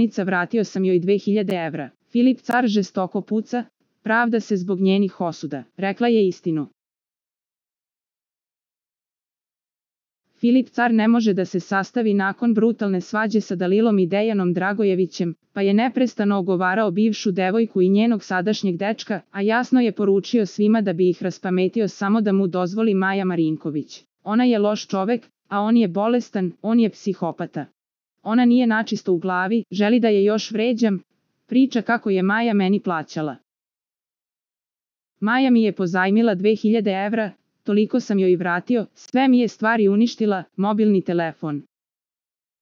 rečenica vratio sam joj 2000 evra. Filip car žestoko puca, pravda se zbog njenih osuda. Rekla je istinu. Filip car ne može da se sastavi nakon brutalne svađe sa Dalilom i Dejanom Dragojevićem, pa je neprestano ogovarao bivšu devojku i njenog sadašnjeg dečka, a jasno je poručio svima da bi ih raspametio samo da mu dozvoli Maja Marinković. Ona je loš čovek, a on je bolestan, on je psihopata. Ona nije načisto u glavi, želi da je još vređam, priča kako je Maja meni plaćala. Maja mi je pozajmila 2000 evra, toliko sam joj vratio, sve mi je stvari uništila, mobilni telefon.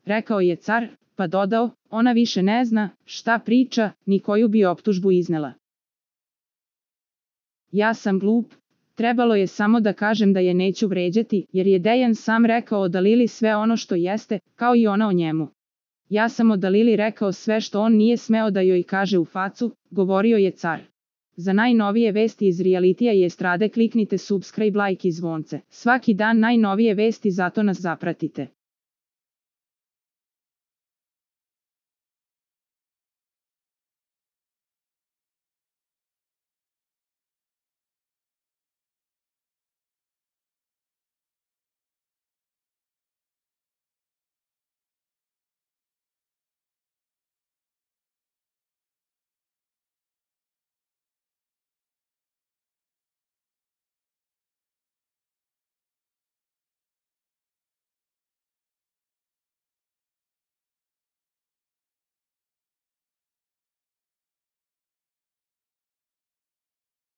Rekao je car, pa dodao, ona više ne zna šta priča, ni koju bi optužbu iznela. Ja sam glup, trebalo je samo da kažem da je neću vređati, jer je Dejan sam rekao o Dalili sve ono što jeste, kao i ona o njemu. Ja sam o Dalili rekao sve što on nije smeo da joj kaže u facu, govorio je car. Za najnovije vesti iz realitija i estrade kliknite subscribe, like i zvonce. Svaki dan najnovije vesti, zato nas zapratite.